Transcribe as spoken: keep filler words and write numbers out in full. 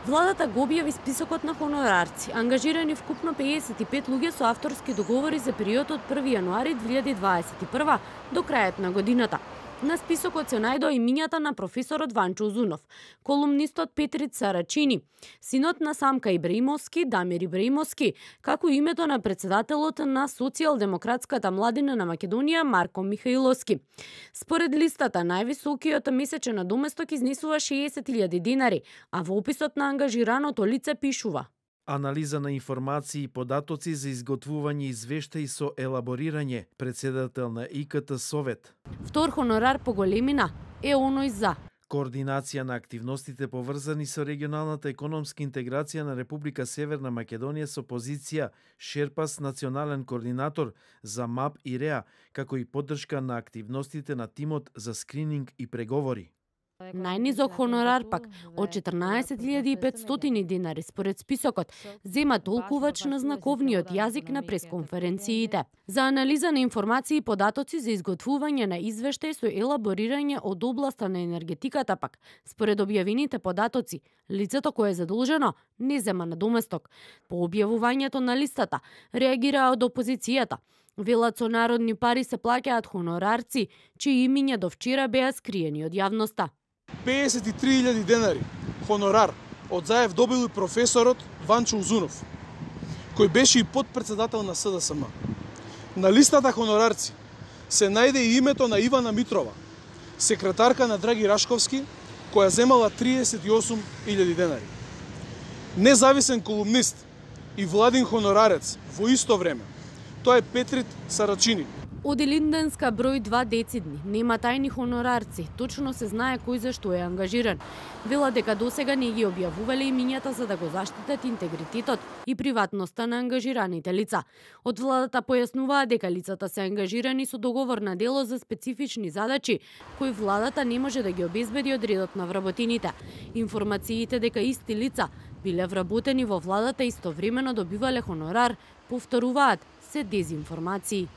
Владата го објави списокот на хонорарци, ангажирани вкупно пеесет и пет луѓе со авторски договори за период од први јануари две илјади дваесет и прва до крајот на годината. На списокот се најдоа имињата на професорот Ванчо Узунов, колумнистот Петрит Сарачини, синот на Самка Ибраимовски, Дамир Ибраимовски, како и името на председателот на Социјалдемократската младина на Македонија Марко Михаиловски. Според листата, највисокиот месечен надоместок изнесува шеесет илјади денари, а во описот на ангажираното лице пишува: анализа на информации и податоци за изготвување извештаи со елаборирање, председател на И К Т Совет. Втор хонорар по големина е оној за координација на активностите поврзани со регионалната економска интеграција на Република Северна Македонија со позиција Шерпас национален координатор за МАП и РЕА, како и поддршка на активностите на тимот за скрининг и преговори. Најнизок хонорар пак од четрнаесет илјади и петстотини денари според списокот зема толкувач на знаковниот јазик на пресконференциите. За анализа на информации и податоци за изготвување на извештај со елаборирање од областа на енергетиката пак, според објавените податоци, лицето кое е задолжено не зема надоместок. По објавувањето на листата реагираа од опозицијата. Велат со народни пари се плаќаат хонорарци, чии имиња до вчера беа скриени од јавноста. пеесет и три илјади денари хонорар од заев добил и професорот Ванчо Узунов, кој беше и подпредседател на С Д С М. На листата хонорарци се најде и името на Ивана Митрова, секретарка на Драги Рашковски, која земала триесет и осум илјади денари. Независен колумнист и владин хонорарец во исто време, тоа е Петрит Сарачини. Од Илинденска број два децидни, нема тајни хонорарци, точно се знае кој за што е ангажиран. Вела дека досега не ги објавувале имињата за да го заштитат интегритетот и приватноста на ангажираните лица. Од владата појаснуваа дека лицата се ангажирани со договор на дело за специфични задачи, кои владата не може да ги обезбеди од редот на вработените. Информациите дека исти лица биле вработени во владата истовремено добивале хонорар, повторуваат се дезинформации.